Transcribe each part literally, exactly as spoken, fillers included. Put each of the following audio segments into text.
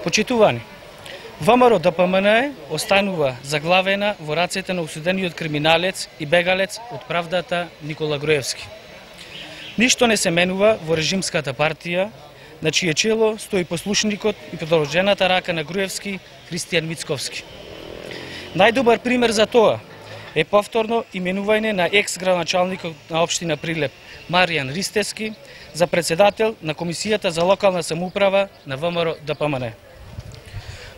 Почитувани, ВМРО Д П М Н останува заглавена во рацете на осудениот криминалец и бегалец од правдата Никола Груевски. Ништо не се менува во режимската партија, на чие чело стои послушникот и продолжената рака на Груевски, Христијан Мицковски. Најдобар пример за тоа е повторно именување на екс-градоначалникот на општина Прилеп, Маријан Ристевски, за председател на Комисијата за локална самоуправа на ВМРО Д П М Н.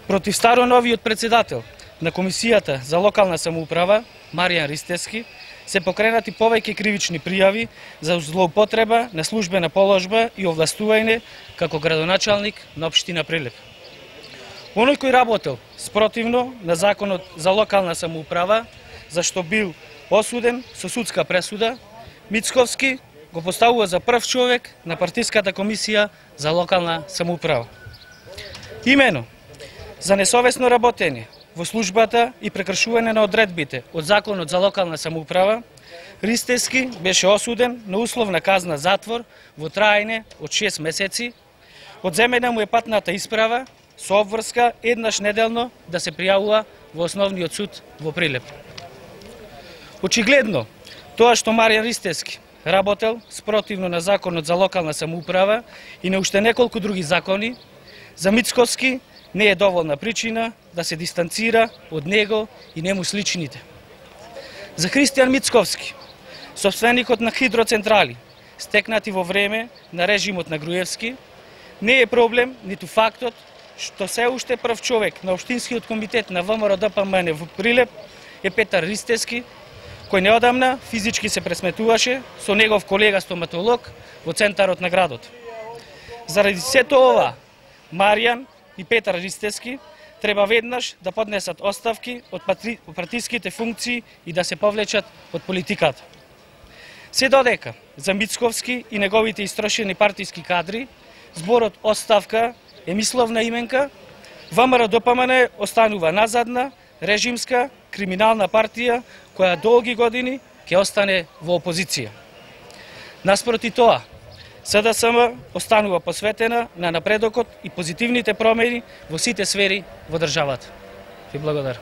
Против староновиот председател на Комисијата за локална самоуправа, Маријан Ристевски, се покренати повеќе кривични пријави за злоупотреба на службена положба и овластување како градоначалник на општина Прилеп. Оној кој работел спротивно на законот за локална самоуправа, зашто бил осуден со судска пресуда, Мицковски го поставува за прв човек на партиската комисија за локална самоуправа. Имено за несовесно работење во службата и прекршување на одредбите од законот за локална самоуправа, Ристевски беше осуден на условна казна затвор во траење од шест месеци, одземена му е патната исправа со обврска еднаш неделно да се пријавува во Основниот суд во Прилеп. Очигледно, тоа што Маријан Ристевски работел спротивно на законот за локална самоуправа и на уште неколку други закони, за Мицковски не е доволна причина да се дистанцира од него и нему сличните. За Христијан Мицковски, собственикот на хидроцентрали, стекнати во време на режимот на Груевски, не е проблем ниту фактот што се уште прв човек на Општинскиот комитет на ВМРО Д П М Н во Прилеп е Петар Ристевски, кој неодамна физички се пресметуваше со негов колега стоматолог во центарот на градот. Заради сето ова, Маријан и Петар Ристевски треба веднаш да поднесат оставки од партиските функции и да се повлечат од политиката. Се додека за Мицковски и неговите истрошени партиски кадри зборот оставка е мисловна именка, ВМРО Д П М Н останува назадна, режимска, криминална партија која долги години ќе остане во опозиција. Наспроти тоа, С Д С М останува посветена на напредокот и позитивните промени во сите сфери во државата. Ви благодарам.